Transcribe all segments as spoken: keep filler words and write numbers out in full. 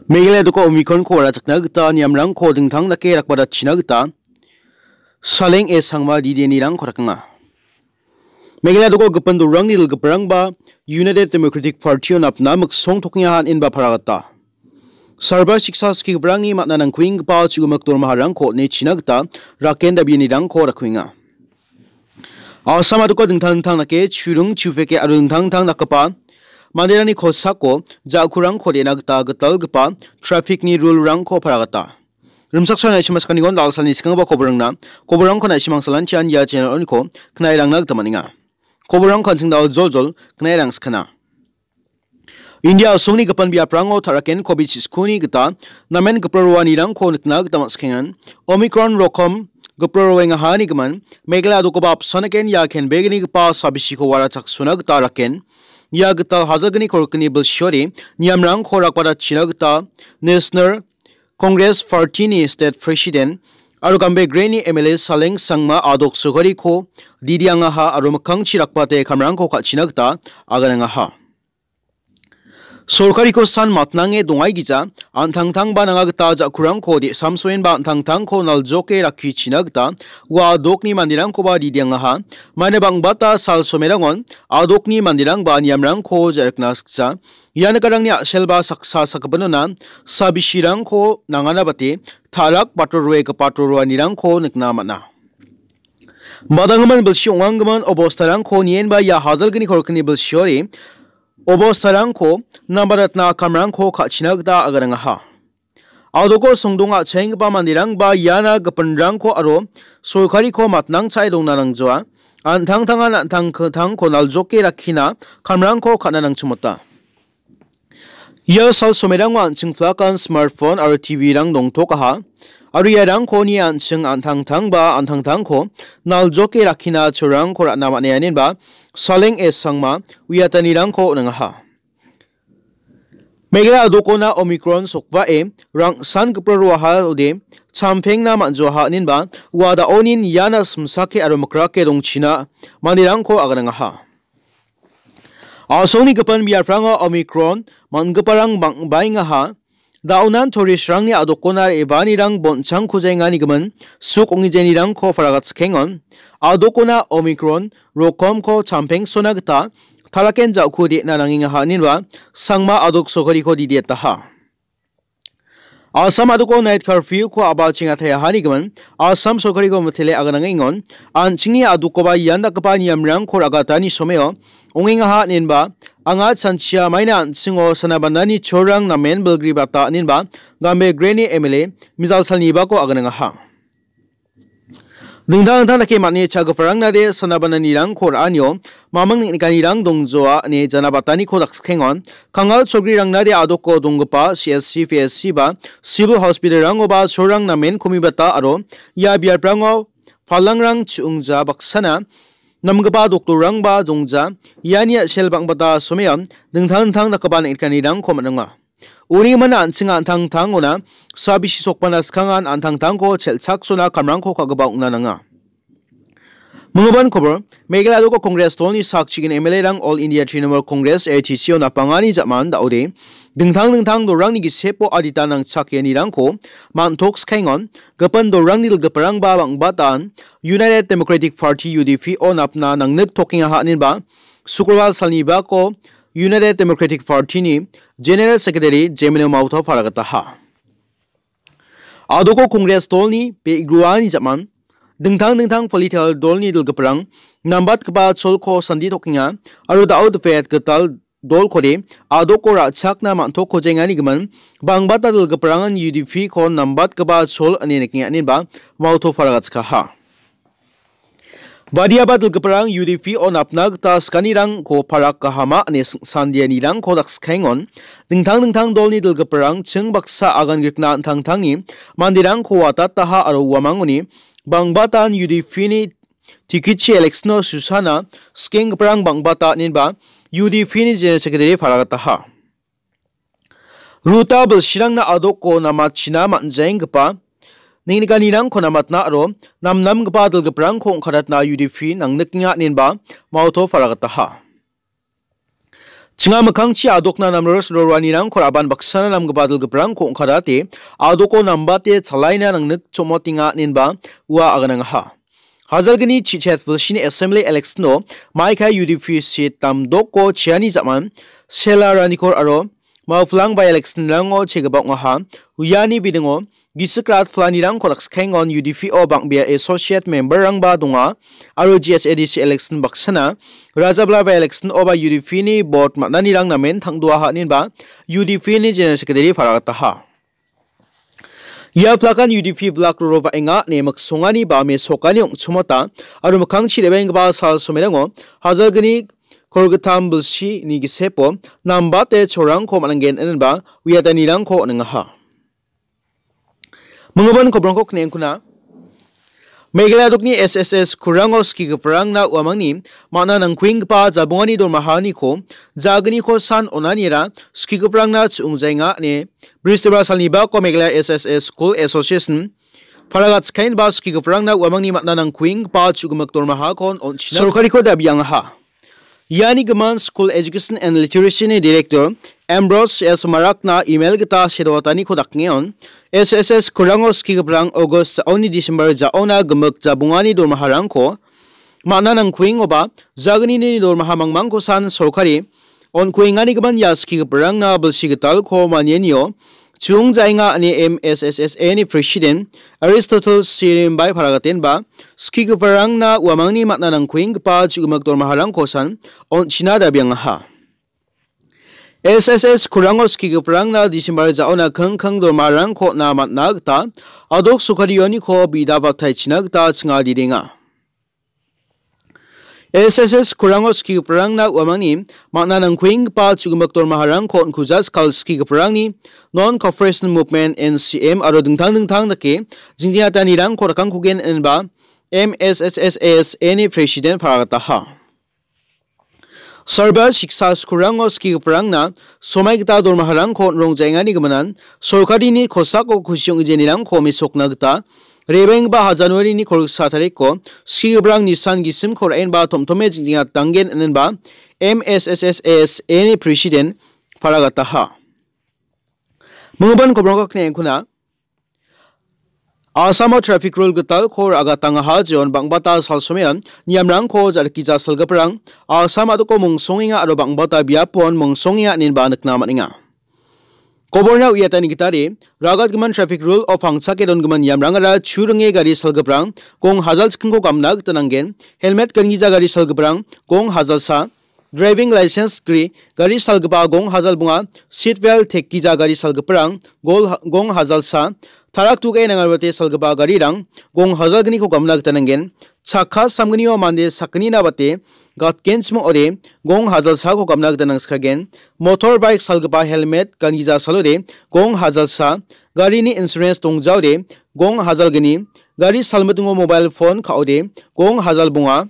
Meghalaya doko Omicron-ko warachakna gita niamrangko dingtang dake rakbadatchina gita Saleng S Sangma D D A-nirangko rakenga. Meghalaya doko gipin dolrangni dilgiparangba United Democratic Party-o napna miksong tokenga han inba paragata. Sarba siksa skigiparangni man·a nangkuenggipa chu·gimik dormaharangko on·e china gita raken dabianirangko rakuenga. Assam adoko dingtang dingtang dake churung chufeke aro dingtang dingtang dakgipa manderangni kosako ja·kurangko de·na gita gitalgipa traffic-ni rule-rangko paragata. Rimchaksoa naisima sakanigon dalsalni skanggipa koborangna koborangko naisima angsalantian ia channel-oniko knairangna gita man·enga. Koborangko an·ching dao joljol knairang skana. India a·songni gipin biaprango ta·raken covid siskoni gita namen gipra roanirangko nikna gita man·skengan. Omicron rokom gipra roengahani gimin Meghalaya adokoba apsanaken ia kenbegnigipa sabisiko warachaksona gita raken. Ia gital hajalgni korikni bilsiori niamrangko rakbadatchina gita National Congress Party-ni State President aro Gambegre-ni M L A Saleng Sangma adok sogariko didiangaha aro mikkangchi rakbate kamrangko ka·china gita aganangaha. Sorkariko san matnange dongaigija, an·tangtangba nanga gita ja·kurangko de·samsoenba an·tangtangko naljoke rakkichina gita ua adokni manderangkoba didiangaha. Maina bang·bata sal somerangon adokni manderangba niamrangko ja·rikna sikja. Ia nikarangni a·selba saksa sakgipinona sabisirangko nangana bate ta·rak bator roegipa toroanirangko nikna man·a. Badanggimin bilsi ong·anggimin obostarangko nienba ia hajalgni korikni bilsiori obostarangko nambaratna kamrangko ka·china gita aganangaha. Adoko songdong a·chaenggipa manderangba iana gipinrangko aro sorkariko matnang cha·e dongna nangjoa. An·tangtangan an·tangtangko naljoke rakkina kamrangko ka·na nangchimota. Ia sal somerango an·ching plakan, smartphone aro T V-rang dongtokaha. Aro iarangko nie an·ching an·tangtangba an·tangtangko naljoke rakkina chorangko ra·na man·enba Saleng S Sangma uiatanirangko on·angaha. Meghalaya adokona Omicron sokbae rangsan gipra roaha ode champengna man·joaha inenba ua da·onin iana simsake aro mikrake dongchina manderangko aganangaha. A·songni gipin biaprango Omicron man·giparang bang·baengaha. Da·onan tourist-rangni adokona re·baanirang bonchangkujaengani gimin suk ong·ijenirangko paragatchikengon. Adokona Omicron rokomko champengsona gita talaken ja·ku de·na nangengaha inenba Sangma adok sogariko didiataha. Assam adoko night curfew-ko a·bachengataiahani gimin Assam sorkariko mitele aganangengon. An·chingni adokoba ian dakgipa niamrangko ra·gatani someo ongengaha inenba anga chanchia maina an·chingo sana banani cholrang namen bilgribata inenba Gambegreni M L A Mijal Salnibako aganangaha. Dingtang dingtang dake man·e cha·giparangna de sana bananirangko ra·anio maming neng·nikanirang dongjoa ine janabataniko dakskikengon. Kangal cholgrirangna de adoko donggipa C S C, P S C ba civil hospital-rangoba cholrang namen komibata aro ia biaprango palangrang chu·ongja baksana namgipa doktorrangba dongja. Iani a·sel bang·bata someon dingtang dingtang dakgipa neng·nikanirangko man·enga. Uni gimin an·ching an·tangtangona sabisi sokbana skangan an·tangtangko chelchaksona kamrangko ka·gipa ong·na nanga. Minggipan kobor, Meghalaya adoko Congress dolni sak chigin M L A-rang All India Trinamool Congress, A T C-o napangani ja·man da·ode dingtang dingtang dolrangni gisepo adita nangchakenirangko man·tokskaengon. Gipin dolrangni dilgiparangba bang·batan United Democratic Party, U D P-o napna nangniktokengaha inenba Sukrobal salnibako United Democratic Party-ni General Secretary Jemino Mauto paragataha. Adoko Congress dolni be·gruani ja·man dingtang dingtang political dolni dilgiparang nambatgipa cholko sanditokenga aro da·o dipet gital dolkode adoko ra·chakna man·tokkojenganigimin bangbata dilgiparangan U D P-ko nambatgipa chol ine nikenga inenba Mauto paragatskaha. Badiaba dilgiparang U D P-o napna gita skanirangko parak gahama ine sing-, sandianirangko dakskaengon. Dingtang dingtang dolni dilgiparang ching baksa agan grikna an·tangtangni manderangko watataha aro uamangoni bangbatan U D P-ni tikichi election-o susana skenggiparang bangbata inenba U D P-ni General Secretary paragataha. Ruta bilsirangna adoko namachina man·jaenggipa neng·nikanirangko namatna aro namnamgipa dilgiparangko ong·kadatna U D P nangnikenga inenba Mauto paragataha. Chinga mikkangchi adokna namros roroanirangko raban baksana namgipa dilgiprangko ong·kadate adoko nambate chalaina nangnik chomotenga inenba ua aganangaha. Hajalgni chichet vilsini assembly election-o maikai U D P seat damdoko chiani jaman Sela Ranikor aro Mawplang by-election-rango chegipa ong·aha. Uiani bidingo gisik rat planirangko dakskiengon U D P-o bang·bea associate member-rangba donga aro G S A D C election baksana Rajabla by-election-oba U D P-ni bot man·anirang namen tangdoaha inenba U D P-ni General Secretary paragataha. Ia plakan U D P blak roro va·enga ine miksongani ba mesokani ong·chimota aro mikkangchi re·baenggipa sal somerango hajalgni kolgittam bilsini gisepo nambate chorangko man·angen inenba uiatanirangko on·engaha. Minggipan kobrangko kne·engkuna. Meghalaya dokni S S S kurango skigiparangna uamangni man·a nangkuenggipa jabongani dormahaniko jagniko san onanira skigiparangna chu·ongjaenga ine Bristol salni bako Meghalaya S S S School Association Paragat Skain ba skigiparangna uamangni man·a nangkuenggipa chu·gimik dormahakon on·china sorkariko dabiangaha. Iani gimin School Education and Literacy-ni Director Ambrose S Marakna email gita sedoataniko dakengeon, S S S kurango skigiparang August ja·oni December ja·ona gimik jabongani dormaharangko man·a nangkuengoba jagnini dormaha mangmangko san sorkari on·kuengani gimin ia skigiparangna bilsi gitalko manianio Chung Jainga ine M S S S A-ni President Aristotle Sirimbai paragatenba skigiparangna uamangni man·a nangkuenggipa chu·gimik dormaharangko san on·china dabiangaha. S S S kurango skigiparangna December ja·ona kingking dormaharangko on·na man·a gita adok sorkarioniko bida baktaichina gita chingaridenga. S S S kurango skigiparangna uamangni man·a nangkuenggipa chu·gimik dormaharangko on·kuja skal skigiparangni Non-Cooperation Movement, N C M, aro dingtang dingtang dake jingjiatanirangko rakangkugen inenba M S S S A-ni President paragataha. Sarba siksa skurango skigiparangna somai gita dormaharangko on·rongjaengani giminan sorkarini kosako kusi ong·genirangko mesokna gita re·baenggipa ha January-ni kolgisa tariko skigiparang nisan gisimko ra·enba tomtome jingjinga danggen inenba M S S S A-ni President paragataha. Minggipan kobrangko kne·engkuna. Asamo traffic rule gitalko ra·gatangaha jeon bang·bata salsomean niamrangko ja·rikija salgiparang Asam a·doko mongsongenga aro bang·bata biapon mongsongenga inenba nikna man·enga. Koborna uiatani gitade ragatgimin traffic rule-o pangchake dongimin niamrangara chu ringe gari salgiparang gong hajal chikkingko gamna gita nanggen, helmet gangija gari salgiparang gong hajalsa, driving license gri gari salgipa gong hajal bonga, seat belt tekgija gari salgiparang gol ha-, gong hajalsa, tarak tuge nangarwate salgipa garirang gong hajal gniko gamna gita nanggen. Chakka samgnio mande sakgnina bate gatgenchim ong·ode gong hajalsako gamna gita nangskagen. Motor bike salgipa helmet gangija salode gong hajalsa, garini insurance dongjaode gong hajal gni, gari salmitingo mobile phone ka·ode gong hajal bonga.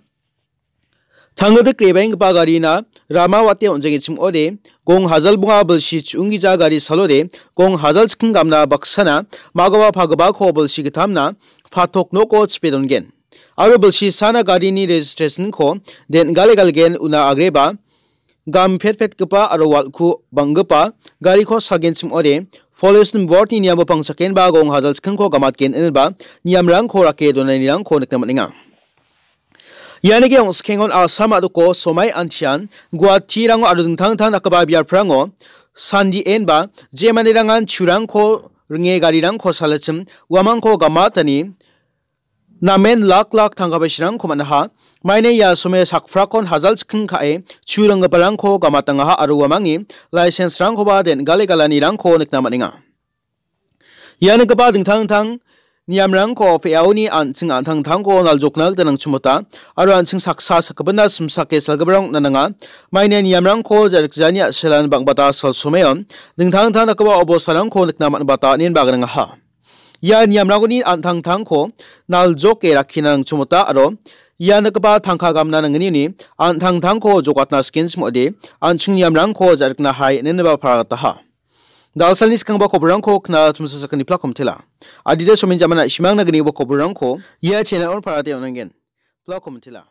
Tangildik re·baenggipa garina rama wate on·jengchim ong·ode, gong hajal bonga bilsi chu·unggija gari salode, gong hajal chikking gamna baksana magoba pagipako bilsi gittamna patok noko chipe dongen. Aro bilsi sana garini registration-ko den·gale galgen una agreba, gam petpetgipa aro walku bang·gipa gariko salgenchim ong·ode, police-ni bord-ni niamo pangchakenba gong hajal chikkingko gamatgen inenba niamrangko rake donanirangko nikna man·enga. Ianike ong·skengon Assam a·doko somai antian Guwahatirango aro dingtang dingtang dakgipa biaprango sandi enba je manderangan churangko ringe garirangko salachim uamangko gamatani namen lak lak tangka baisirangko man·aha. Maine ia some sakprakon hajal chikking ka·e chu ringgiparangko gamatangaha aro uamangni license-rangkoba den·gale galanirangko nikna man·enga. Ia nikgipa dingtang dingtang niamrangko pe·aoni an·ching an·tangtangko naljokna gita nangchimota aro an·ching saksa sakgipina simsake salgiparang on·a nanga. Maine niamrangko ja·rikjani a·selan bang·bata salsomeon dingtang dingtang dakgipa obostarangko nikna man·bata ine baganangaha. Ia niamrangoni an·tangtangko naljoke rakkina nangchimota aro ia nikgipa tangka gamna nangnini an·tangtangko jokatna sikenchim ong·ode an·ching niamrangko ja·rikna hai ineba paragataha. Dalsalni skangba koborangko kna tumsa sakani plak komtela. Adita somin jamana simangna gniba koborangko ia channel-on parate on·angen. Plak komtela.